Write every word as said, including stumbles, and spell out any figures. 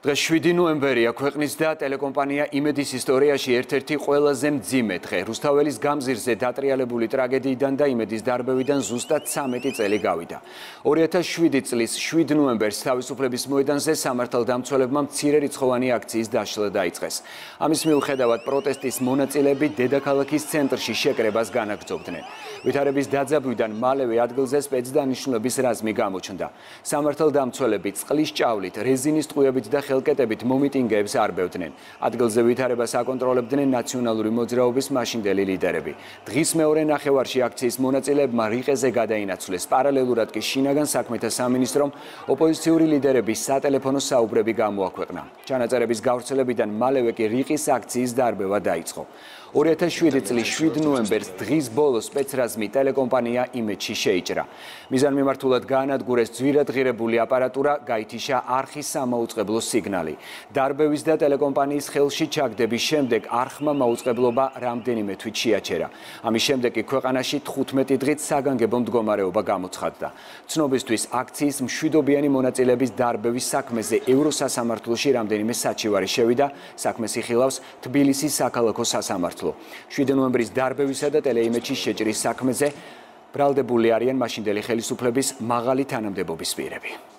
დღეს შვიდი ნოემბერია ქვეყნის და ტელეკომპანია იმედის ისტორიაში ერთ-ერთი ყველაზე მძიმე დღე. რუსთაველის გამზირზე დატრიალებული ტრაგედიიდან და იმედის დარბევიდან ზუსტად ცამეტი წელი გავიდა. ორი ათას შვიდი წლის შვიდ ნოემბერს თავისუფლების მოედანზე სამართალდამცველებმა მცირერიცხოვანი აქციის დაშლა დაიწყეს. ამის მიუხედავად პროტესტის მონაწილეები დედაქალაქის ცენტრში შეკრებას განაგრძობდნენ. ვითარების დაძაბვიდან მალევე ადგილზე სპეცდანიშნულების რაზმი გამოჩნდა. სამართალდამცველები წყლის ჭავლით, რეზინის ტყუებით და ხელკეტებით მომიტინგეებს არბევდნენ. ადგილზე ვითარებას აკონტროლებდნენ ნაციონალური მოძრაობის მაშინდელი ლიდერები. დღის მეორე ნახევარში აქციის მონაწილეებმა რიყეზე გადაინაცვლეს. პარალელურად კი შინაგან საქმეთა სამინისტრომ ოპოზიციური ლიდერების სატელეფონო საუბრები გამოაქვეყნა. ჩანაწერების გავრცელებიდან მალევე კი რიყის აქციის დარბევა დაიწყო. ორი ათას შვიდი წლის შვიდ ნოემბერს დღის ბოლოს სპეცრაზმი ტელეკომპანია იმედში შეიჭრა. მიზანმიმართულად გაანადგურეს ძვირადღირებული აპარატურა, გაითიშა არხის სამაუწყებლო სიგნალი. დარბევის და ტელეკომპანიის ხელში ჩაგდების შემდეგ არხმა მაუწყებლობა რამდენიმე თვით შეაჩერა. ამის შემდეგ კი ქვეყანაში თხუთმეტი დღით საგანგებო მდგომარეობა გამოცხადდა. ცნობისთვის აქციის მშვიდობიანი მონაწილეების დარბევის საქმეზე ევროსასამართლოში რამდენიმე საჩივარი შევიდა. საქმეს იხილავს თბილისის საქალაქო სასამართლო. შვიდი ნოემბრის დარბევისა და ტელეიმედში შეჭრის საქმეზე ბრალდებული არიან მაშინდელი ხელისუფლების მაღალი თანამდებობის პირები.